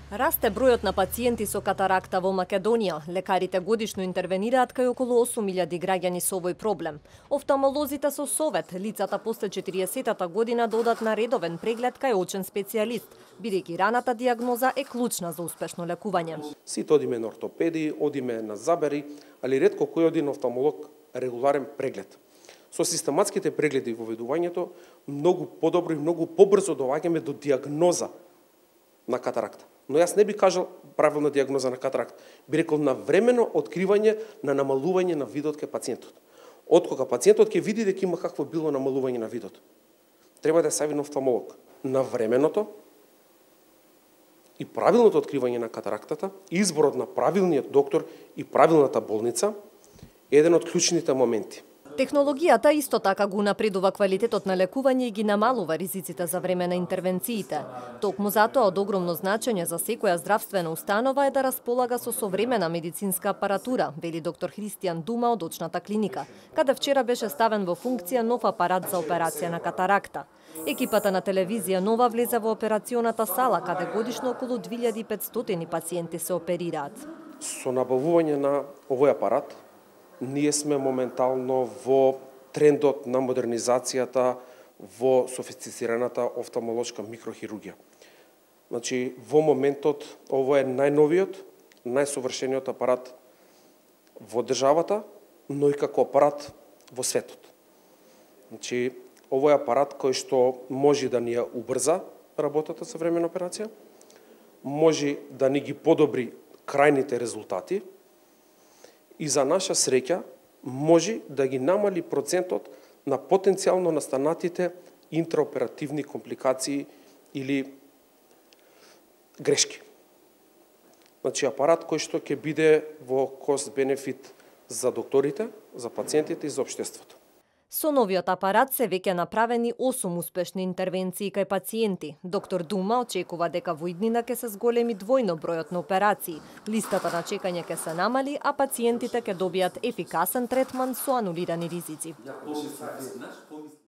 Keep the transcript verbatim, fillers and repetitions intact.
Расте бројот на пациенти со катаракта во Македонија. Лекарите годишно интервенираат кај околу осум илјади граѓани со овој проблем. Офталмолозите со совет лицата после четириесеттата година да одат на редовен преглед кај очен специјалист, бидејќи раната дијагноза е клучна за успешно лекување. Сите одиме на ортопеди, одиме на забери, али ретко кој оди на офталмолог регуларен преглед. Со систематските прегледи во ведувањето многу подобро и многу побрзо доаѓаме до дијагноза на катаракта. Но јас не би кажал правилна дијагноза на катаракт, би рекол навремено откривање на намалување на видот кај пациентот. Откога пациентот ќе види дека има какво било намалување на видот, треба да се јави на офталмолог. Навременото и правилното откривање на катарактата, изборот на правилниот доктор и правилната болница е еден од клучните моменти. Технологијата исто така го напредува квалитетот на лекување и ги намалува ризиците за време на интервенциите. Токму затоа од огромно значење за секоја здравствена установа е да располага со современа медицинска апаратура, вели доктор Христијан Дума од очната клиника, каде вчера беше ставен во функција нов апарат за операција на катаракта. Екипата на телевизија Нова влезе во операционата сала, каде годишно околу две илјади и петстотини пациенти се оперираат. Со набавување на овој апарат, ние сме моментално во трендот на модернизацијата во софистицираната офталмолошка микрохирургија. Значи, во моментот, ово е најновиот, најсовршениот апарат во државата, но и како апарат во светот. Значи, ово е апарат кој што може да ни ја убрза работата со времена операција, може да ни ги подобри крајните резултати, и за наша среќа може да ги намали процентот на потенцијално настанатите интраоперативни компликации или грешки. Значи апарат кој што ќе биде во кост-бенефит за докторите, за пациентите и за општеството. Со новиот апарат се веќе направени осум успешни интервенции кај пациенти. Доктор Дума очекува дека во иднина ќе се зголеми двојно бројот на операции. Листата на чекање ќе се намали, а пациентите ќе добијат ефикасен третман со анулирани ризици.